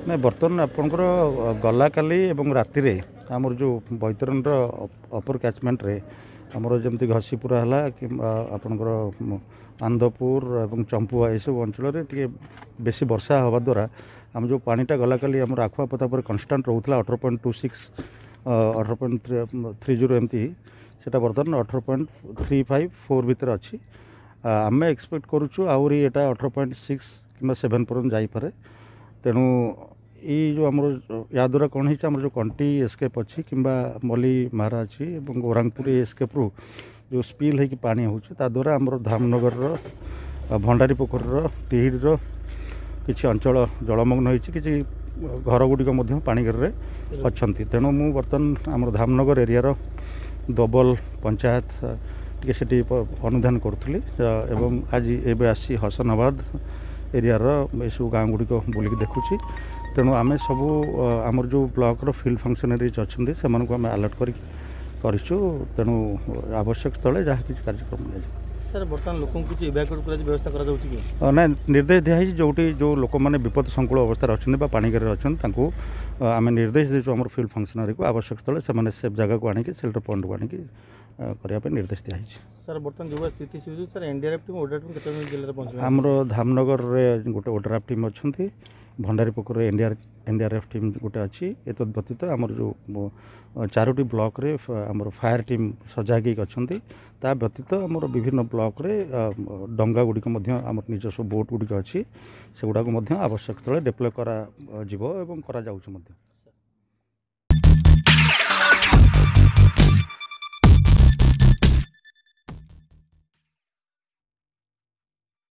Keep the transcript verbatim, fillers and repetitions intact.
ନାଇଁ, ବର୍ତ୍ତମାନ ଆପଣଙ୍କର ଗଲାକାଲି ଏବଂ ରାତିରେ ଆମର ଯେଉଁ ବୈତରଣୀର ଅପର କ୍ୟାଚମେଣ୍ଟରେ ଆମର ଯେମିତି ଘସିପୁରା ହେଲା କିମ୍ବା ଆପଣଙ୍କର ଆନନ୍ଦପୁର ଏବଂ ଚମ୍ପୁଆ, ଏସବୁ ଅଞ୍ଚଳରେ ଟିକେ ବେଶୀ ବର୍ଷା ହେବା ଦ୍ୱାରା ଆମ ଯେଉଁ ପାଣିଟା ଗଲାକାଲି ଆମର ଆଖୁଆପଦା ପରେ କନଷ୍ଟାଣ୍ଟ ରହୁଥିଲା ଅଠର ପଏଣ୍ଟ ଟୁ ସିକ୍ସ, ଅଠର ପଏଣ୍ଟ ଥ୍ରୀ ଜିରୋ ଏମିତି, ସେଇଟା ବର୍ତ୍ତମାନ ଅଠର ପଏଣ୍ଟ ଥ୍ରୀ ଫାଇଭ୍ ଫୋର୍ ଭିତରେ ଅଛି। ଆମେ ଏକ୍ସପେକ୍ଟ କରୁଛୁ ଆହୁରି ଏଇଟା ଅଠର ପଏଣ୍ଟ ସିକ୍ସ କିମ୍ବା ସେଭେନ୍ ପର୍ଯ୍ୟନ୍ତ ଯାଇପାରେ। ତେଣୁ ଏଇ ଯେଉଁ ଆମର ୟା ଦ୍ୱାରା କ'ଣ ହେଇଛି, ଆମର ଯେଉଁ କଣ୍ଟି ଏସ୍କେପ୍ ଅଛି କିମ୍ବା ମଲି ମାରା ଅଛି ଏବଂ ଓରାଙ୍ଗପୁର ଏସ୍କେପ୍ରୁ ଯେଉଁ ସ୍ପିଲ୍ ହେଇକି ପାଣି ହେଉଛି, ତା ଦ୍ୱାରା ଆମର ଧାମନଗରର, ଭଣ୍ଡାରୀ ପୋଖରୀର, ତିହିଡ଼ିର କିଛି ଅଞ୍ଚଳ ଜଳମଗ୍ନ ହେଇଛି। କିଛି ଘର ଗୁଡ଼ିକ ମଧ୍ୟ ପାଣି ଘେରରେ ଅଛନ୍ତି। ତେଣୁ ମୁଁ ବର୍ତ୍ତମାନ ଆମର ଧାମନଗର ଏରିଆର ଦୋବଲ ପଞ୍ଚାୟତ ଟିକେ ସେଠି ଅନୁଧ୍ୟାନ କରୁଥିଲି ଏବଂ ଆଜି ଏବେ ଆସି ହସନାବାଦ ଏରିଆର ଏସବୁ ଗାଁ ଗୁଡ଼ିକ ବୁଲିକି ଦେଖୁଛି। ତେଣୁ ଆମେ ସବୁ ଆମର ଯେଉଁ ବ୍ଲକର ଫିଲ୍ଡ ଫଙ୍କସନାରିଜ୍ ଅଛନ୍ତି, ସେମାନଙ୍କୁ ଆମେ ଆଲର୍ଟ କରିକି କରିଛୁ। ତେଣୁ ଆବଶ୍ୟକ ସ୍ଥଳେ ଯାହା କିଛି କାର୍ଯ୍ୟକ୍ରମ ନିଆଯିବ। ସାର୍, ବର୍ତ୍ତମାନ ଲୋକଙ୍କୁ କିଛି ଇଭାକୁଏଟ୍ କରାଯାଇ ବ୍ୟବସ୍ଥା କରାଯାଉଛି କି? ନାଇଁ, ନିର୍ଦ୍ଦେଶ ଦିଆହେଇଛି, ଯେଉଁଠି ଯେଉଁ ଲୋକମାନେ ବିପଦ ସଂକୁଳ ଅବସ୍ଥାରେ ଅଛନ୍ତି ବା ପାଣି ଘେରରେ ଅଛନ୍ତି, ତାଙ୍କୁ ଆମେ ନିର୍ଦ୍ଦେଶ ଦେଇଛୁ ଆମର ଫିଲ୍ଡ ଫଙ୍କସନାରୀକୁ, ଆବଶ୍ୟକ ସ୍ଥଳେ ସେମାନେ ସେଫ୍ ଜାଗାକୁ ଆଣିକି, ସେଲ୍ଟର ପଏଣ୍ଟକୁ ଆଣିକି କରିବା ପାଇଁ ନିର୍ଦ୍ଦେଶ ଦିଆହେଇଛି। ସାର୍, ବର୍ତ୍ତମାନ ଯେଉଁ ସ୍ଥିତି sir, NDRF team, ODRAF team କେତେ ଜିଲ୍ଲାରେ ପହଞ୍ଚିବ? ଆମର ଧାମନଗରରେ ଗୋଟେ ଓଡ୍ରାଫ୍ ଟିମ୍ ଅଛନ୍ତି, ଭଣ୍ଡାରୀ ପୋଖରୀରେ ଏନ୍ଡିଆର୍ ଏନ୍ଡିଆର୍ଏଫ୍ ଟିମ୍ ଗୋଟେ ଅଛି। ଏତଦ୍ ବ୍ୟତୀତ ଆମର ଯେଉଁ ଚାରୋଟି ବ୍ଲକରେ ଆମର ଫାୟାର ଟିମ୍ ସଜାଗ ହେଇକି ଅଛନ୍ତି। ତା ବ୍ୟତୀତ ଆମର ବିଭିନ୍ନ ବ୍ଲକରେ ଡଙ୍ଗା ଗୁଡ଼ିକ ମଧ୍ୟ, ଆମର ନିଜସ୍ୱ ବୋଟ୍ ଗୁଡ଼ିକ ଅଛି, ସେଗୁଡ଼ାକୁ ମଧ୍ୟ ଆବଶ୍ୟକ ସ୍ଥଳେ ଡେପ୍ଲୟ କରାଯିବ ଏବଂ କରାଯାଉଛି ମଧ୍ୟ।